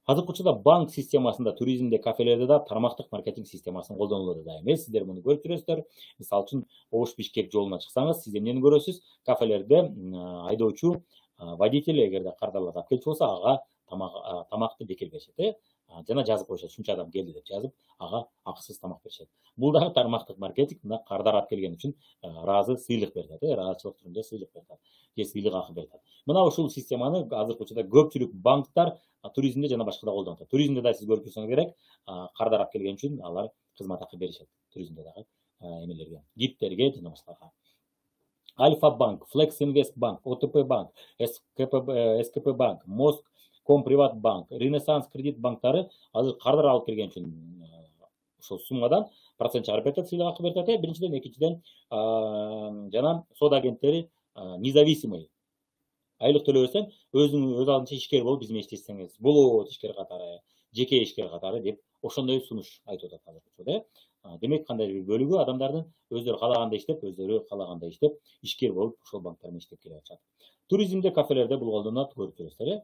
Азыркы учурда банк системасында, туризмде, кафелерде да тармактык маркетинг системасын колдонулууда да эмес. Сиздер муну көрүп жүрөсүздөр. Мисалы үчүн Ош Бишкек жолуна чыксаңыз, сиз эмнени көрөсүз? Кафелерде айдоочу водитель эгерде кардарлар алып келчү болсо, ага тамакты бекер беришет, жана жазып коюшат, ушунча адам келди деп жазып, ага акысыз тамак беришет. Бул дагы тармактык маркетинг, мына кардар алып келген үчүн ыраазы сыйлык берет, ыраазычылык түрүндө сыйлык берет, же сыйлык акы берет. Мына ушул системаны азыркы учурда көпчүлүк банктар туризмде жана башкада колдонуп атат. Туризмде да сиз көрүп жүрсөңүз керек, кардар алып келген үчүн алар кызмат акы беришет. Туризмде дагы эмелерге, гидтерге жана башкаларга. Альфа банк, Флекс Инвест банк, ОТП банк, СКП банк, Моск Комприват банк, Ренессанс кредит банктары азыр кардар алып келген үчүн ошол суммадан процент чыгарып берет, сыйлык акы берет. Биринчиден, экинчиден жана соода агенттери независимый. Айлык төлөбөсөң, өз алдынча ишкер болуп биз менен иштесеңиз болот, ишкер катары, жеке ишкер катары деп ошондой сунуш айтып атат азыркы учурда. Демек кандай бир бөлүгү адамдардын өздөрү каалагандай иштеп, өздөрү каалагандай иштеп, ишкер болуп ошол банктар менен иштеп келе атышат. Туризмде, кафелерде бул колдонулат, көрүп жүрөсүздөр.